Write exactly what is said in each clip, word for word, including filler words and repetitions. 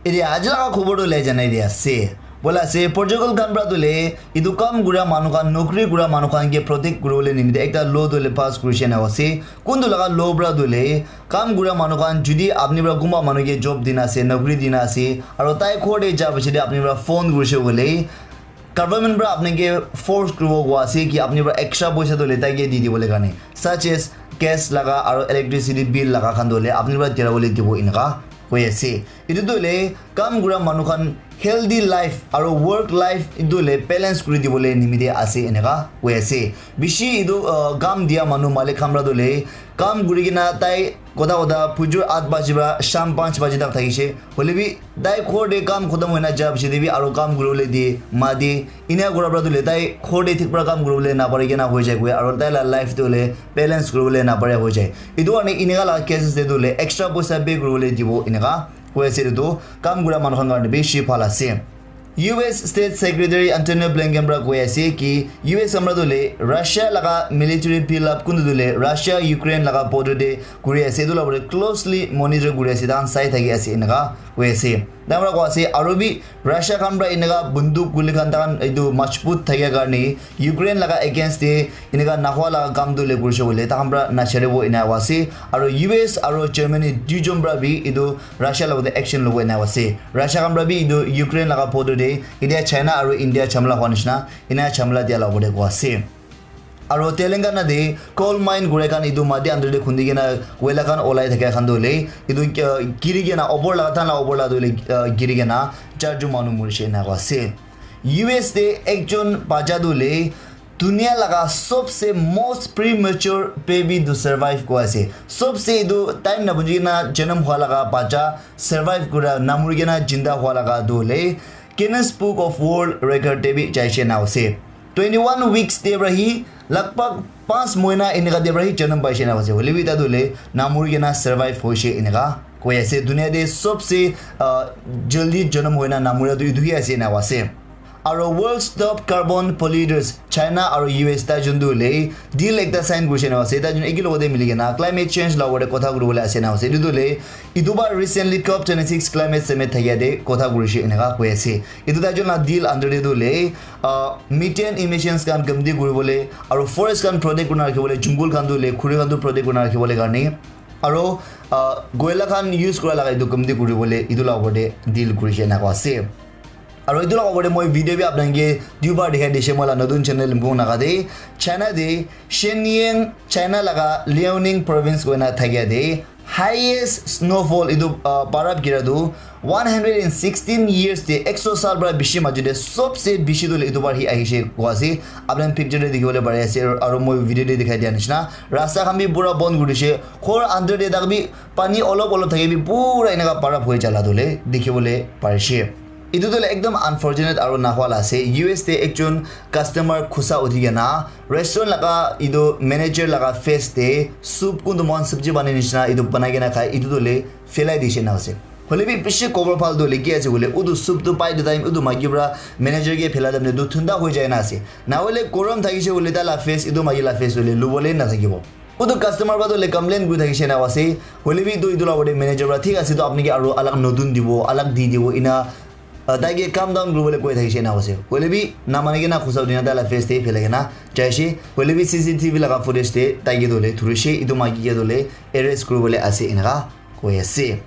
Ede aji laga khobor tu le janai dia ase. Bola ase, Portugal khan pra tu le, etu kam kura manu khan, nokri kura manu khan ke protect kuribole nimite ekta law tu le pass kurishe na ase. Kuntu laga law pra tu le, kam kura manu khan, judi apni pra kunba manu ke job dina ase, nokri dina ase, aro tai ghor te ja piche te apni pra phone kurishe koile, government pra apni ke force kuribo koa ase ki apni pra extra poisa tu le tai ke di dibole karne, such as gas laga aro electricity bill laga khan tu le apni pra dira bole dibo eneka koi ase. Etu tu le kam kura manu khan healthy life aro work life etu le balance kuri dibole nimite ase eneka koi ase. Bishi etu, uh, kam dia manu malik khan pra tu le kam kuri kena tai kota kota phujur aat baji pra sham panch baji tak thakishe. Hoile bi tai ghor te kam khotom hoina ja piche te bi aro kam kuribole di ma di. Enia kura pra tu le tai ghor te thik pra kam kuribole napari kena hoi jai koi aro tai la life tu le balance kuribole napari hoi jai. Etu karne eneka la cases te tu le extra poisa pay kuribole dibo eneka koi ase etu tu kam kura manu khan karne bishi bhal ase. U S State Secretary Antonio Blinken pra koi ase ki U S amra tu le Russia laga military build up kuntu tu le Russia Ukraine laga border te kuri ase etu la bole closely monitor kuri ase tahan sai thaki ase eneka koi ase. Tamra koi ase aro bi Russia khan pra eneka bunduk guli khan tahan etu majbut thakia karne Ukraine laga against te eneka nahua laga kam tu le kurishe koile tahan pra nacharibo ena koi ase. Aro U S aro Germany duijon pra bi etu Russia logote action lobo ena ase. Russia khan pra bi etu Ukraine laga border te etia China aro India jhamla hua nishina ena jhamla dia la opor te koi ase. Aro Telangana te coal mine kure khan etu mati under te khundi kena koila khan olai thakia khan tu le etu, uh, giri kena opor laga tahan la opor la tu le, uh, giri kena charjon manu murishe ena koi ase. U S te ekjon bacha tu le dunia laga sobse most premature baby to survive koi ase. Sobse etu time na buji kena janam hua laga bacha survive kura namuri kena jinda hua laga tu le Guinness Book of World Record te bi jaishe na ase. Twenty one weeks te pra hi lagbhag panch mohina eneka te pra hi janam paishe na ase. Hoile bi etu tu le namuri kena survive hoishe eneka koi ase. Dunia te sobse, uh, jaldi janam hoina namura tu etu hi ase ena koi ase. Aro world's top carbon polluters China aro U S tai jun tu le deal ekta sign kurishe na ase. Tai jun eki logote mili kena climate change la opor te kotha kuribole ase na ase. Etu tu le etu ba recently COP twenty six climate summit thakia te kotha kurishe eneka koi ase. Etu tai jun la deal under te tu le, uh, methane emissions khan kamti kuribole aro forest khan protect kurina rakhibole, jungle khan tu le khuri khan tu protect kurina rakhibole karne aro, uh, koila khan use kura laga etu kamti kuribole etu la opor te deal kurishe eneka ase. Aro etu la opor te moi video bi apnai ke duibar dikhai dishe moi la notun channel Limbung Naga te. China te Shenyang, China laga Liaoning province koina thakia te highest snowfall etu, uh, barap gira tu one hundred and sixteen years te ekso sal pra bishi maji te sobse bishi tu le etu bar hi ahishe koi ase. Apni picture te dikhibole pari ase aro moi video te dikhai dia nishina rasta khan bi pura bon kuri dishe. Ghor under te tak bi pani olop olop thaki bi pura eneka barap hoi jala tu le dikhibole parishe. Etu tu le ekdom unfortunate aro nahua la ase. U S te ekjon customer khusa uthi kena restaurant laga etu manager laga face te soup kuntu moikhan sabji banai nishina etu banai kena khai etu tu le phelai dishe na ase. Hoile bi bishi khobor bhal tu hoile ki ase koile utu soup tu pai de time utu maiki pra manager ke phelai time tu thunda hoi jai na ase. Na hoile gorom thakishe koile tai la face etu maiki la face hoile lubole na thakibo. Utu customer pra tu hoile complain kuri thakishe na ase. Hoile bi tu etu la opor te manager pra thik ase tu apni ke aro alag notun dibo, alag di dibo ena, uh, tai ke calm down kuribole koi thakishe na ase. Hoile bi namani kena khusa udina tai la face te phelai kena jaishe. Hoile bi C C T V laga footage te tai ke tu hoile dhurishe, etu maiki ke tu hoile arrest kuribole ase eneka koi ase.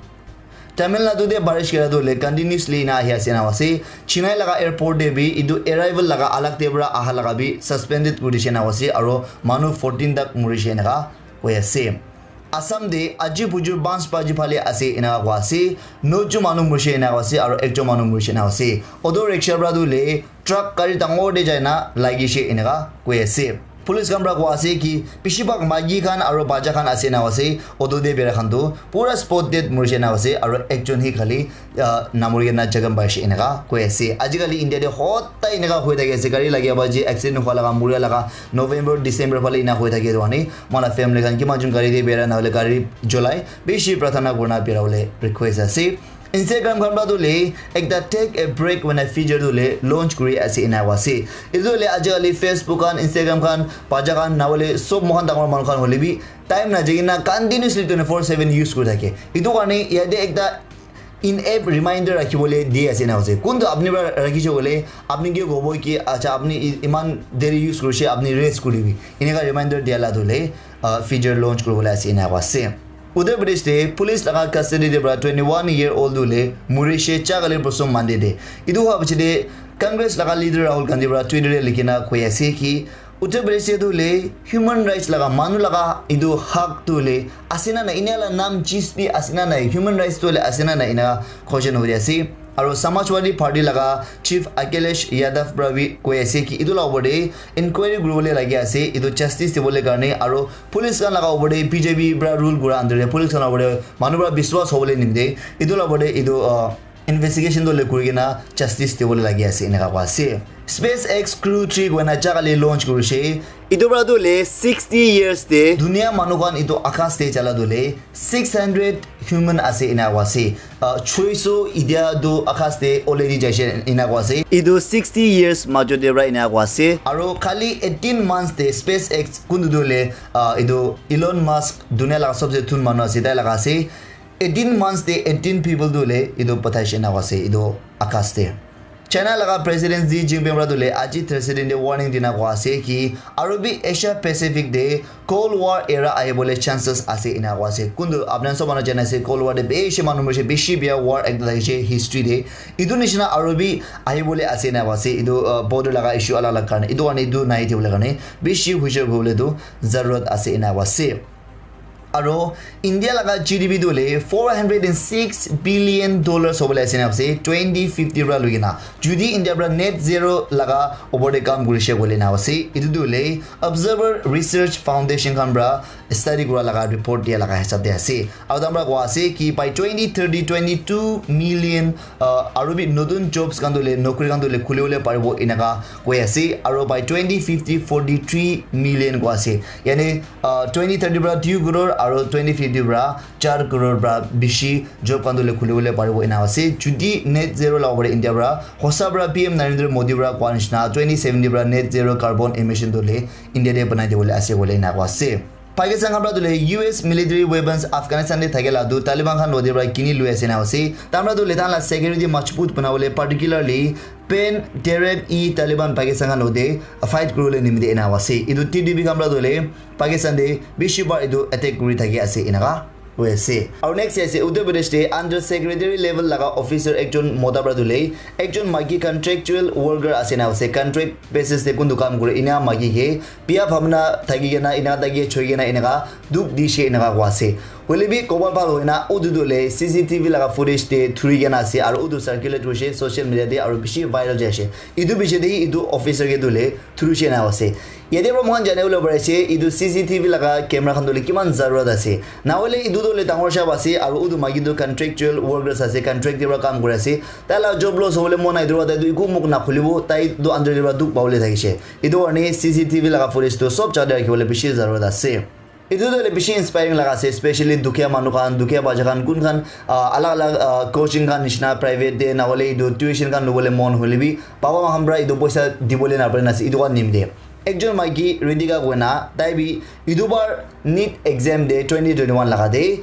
Tamil Nadu te barish kera tu hoile continuously ena ahi ase ena ase. Chennai laga airport te bi etu arrival laga alag te pra aha laga bi suspended kuri dishe ena ase aro manu fourteen tak murishe eneka koi ase. Assam te aji bujur banch baji phale ase eneka koi ase. Nojon manu murishe eneka koi ase aro ekjon manu murishe eneka ase. Auto rickshaw pra tu hoile truck gari dangor te jai na lagishe eneka koi ase. Police khan pra koi ase ki bishi bhag maiki khan aro bacha khan ase ena ase auto te bera khan tu pura spot dead murishe ena ase aro ekjon hi khali, ah, namuri kena jakham paishe eneka koi ase. Ajikali India te hot tai eneka hoi thaki ase gari lagia baji accident hua laga muria laga November December phale ena hoi thaki ase. Moila family khan kiman jon gari te bera na hoile gari jolai bishi prarthana kurina bera bole request ase. Instagram khan pra tu hoile ekta take a break when I feature tu hoile launch kuri ase ena koi ase. Etu tu hoile ajikali Facebook khan, Instagram khan, bacha khan na hoile sob moikhan dangor manu khan hoile bi time na jai kena continuously twenty four seven use kuri thake. Etu karne yate ekta in-app reminder rakhibole di ase ena ase. Kuntu apni para rakhishe koile, apni ke kobo ki, "Acha, apni i-, iman deri use kurishe, apni rest kuribi." Eneka reminder dia la tu le, uh, feature launch kuribole ase ena ase. Uttar Pradesh te police laga custody te para twenty-one year old tu le murishe cha kali bosom mande de. Itu hua piche de Congress laga leader Rahul Gandhi para Twitter te likhina koi ase ki, Uttar Pradesh te tu le human rights laga, manu laga itu hak tu le ase na nai, ena la nam cheez bi ase na nai, human rights tu le ase na nai, ena question hori ase. Aru Samajwadi Party laga chief Akhilesh Yadav para bi koi ase ki itu la opor te inquiry kuribole lagi ase, itu justice dibole karne, aru police khan laga opor te B J P para rule kura under te police khan laga opor te manu para biswas hobole nimite itu la opor te itu, uh, investigation tu le kuri kena justice dibole lagi ase, eneka koa ase. SpaceX Crew three koina cha kali launch kurishe. Itu para tu le sixty years te dunia manu khan itu akas te chala tu le six hundred human ase ena koa ase. Uh, choiso idia tu akas te already jaise ena koa ase. Itu sixty years majo te para ena koa ase. Aru khali eighteen months te SpaceX kuntu tu le, uh, itu Elon Musk dunia laga sabse thun manu ase, tai laga ase. Eighteen months te eighteen people tu le itu pathaishe na ase itu akas te. China laga President Xi Jinping para tu le aji Thursday te warning dina koa ase ki aru bi Asia Pacific te Cold War era ahibole chances ase ena koa ase. Kuntu apna sob manu jana ase Cold War te bishi manu morishe, bishi bia war ekta thakishe history te. Itu nishina aru bi ahibole ase ena koa ase. Itu, uh, border laga issue alag alag karne. Itu karne itu nai dibole karne bishi hushar hobole tu zarurat ase ena koa ase. Aro India laga G D P tu le four hundred and six billion dollars hobole ase na ase twenty fifty para loi kena. Jodi India para net zero laga opor te kam kurishe koile na ase. Etu tu le Observer Research Foundation khan para study kura laga report dia laga hisab te ase. Aro tam para koa ase ki by twenty thirty, twenty-two million, uh, aro bi notun jobs khan tu le, nokri khan tu le khuli bole paribo enaka koi ase. Aro by twenty fifty, forty-three million koa ase. Yani, uh, twenty thirty para two crore aro twenty fifty para char crore para bishi job khan tu le khuli bole paribo ena ase. Jodi net zero la opor te India para hosa para P M Narendra Modi para koa nishina twenty seventy para net zero carbon emission tu le India te banai dibole ase koile ena koa ase. Pakistan khan para tu le U S military weapons Afghanistan te thake la tu Taliban khan lode para kini lui ase na ase. Tam para tu le tan la security majbut bana bole particularly Pan Tarab-e Taliban Pakistan khan lode fight kuri bole nimite ena ase. Etu T T P khan para tu le Pakistan te bishi bar etu attack kuri thaki ase enaka hoi ase. Aru next ase Uttar Pradesh te under secretary level laga officer ekjon mota para tu le ekjon maiki contractual worker ase na ase, contract basis te kuntu kam kure ena maiki ke bia bhabna thaki kena ena thaki choi kena enaka dukh dishe enaka koa ase. Hoile bi kobal bhal hoina utu tu le C C T V laga footage te thuri kena ase aru utu circulate hoishe social media te aru bishi viral jai ase. Etu piche te etu officer ke tu le thurishe na ase. Yate para moikhan jane bole pari ase etu C C T V laga camera khan tu le kiman zarurat ase. Na hoile etu tu le dangor shop ase aru utu maiki tu contractual workers ase, contract te para kam kuri ase. Tai la job loss hobole mon nai, etu para tai tu eku muk na khulibo, tai tu under te para dukh pabole thakishe. Etu karne C C T V laga footage tu sob jaga te rakhi bole bishi zarurat ase. Etu tu hoile bishi inspiring laga ase, especially dukhia manu khan, dukhia bacha khan, kun khan, ah, alag alag, ah, coaching khan nishina private te na hoile etu tuition khan lobole mon hoile bi baba ma khan para etu poisa dibole na pare na ase, etu khan nimite. Ekjon maiki Ritika koina, tai bi etu bar NEET exam te twenty twenty-one laga te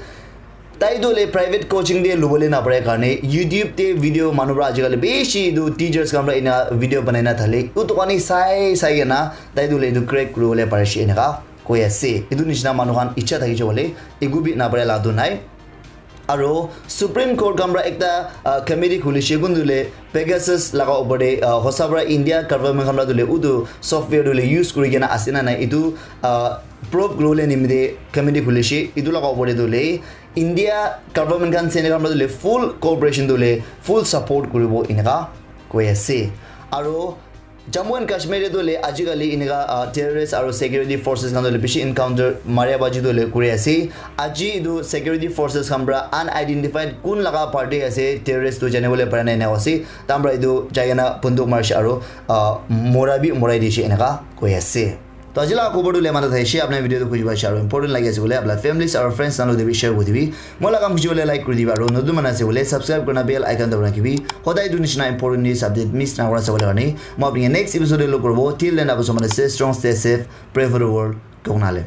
tai tu le private coaching te lobole na pare karne YouTube te video manu para ajikali bishi etu teachers khan para ena video banai na thale, utu khan he sai sai kena tai tu le etu crack kuri bole pari she enaka koi ase. Etu nishina manu khan icha thaki jabole eku bi na pare la tu nai. Aro Supreme Court khan para ekta, ah, committee khulishe kuntu le Pegasus laga opor te, ah, hosa para India government khan para tu le utu software tu le use kuri kena ase na nai etu, ah, probe kuri bole nimite committee khulishe. Etu laga opor te tu le India government khan Senegal khan para tu le full cooperation tu le full support kuribo enaka koi ase. Aro Jammu and Kashmir te tu le ajikali eneka, ah, terrorist aru security forces khan tu le bishi encounter maria baji tu le kuri ase. Aji etu security forces khan para unidentified kun laga party ase terrorist tu jane bole para nai eneka ase. Tam para etu jai kena bunduk marishe aru, ah, mora bi morai dishe eneka koi ase. To aji laga khobor tu le mata thaishe, apni video tu khuji paishe aru important lagi ase koile apna families aru friends khan logote bi share kuri dibi. Moi laga kam khuji bole like kuri dibi aru notun manu ase koile subscribe kurina bell icon dabai rakhibi. Hodai etu nishina important news update miss na kura sabole karne. Moi apni next episode te log kuribo. Till then, apni sob manu stay strong, stay safe, pray for the world. Koknale.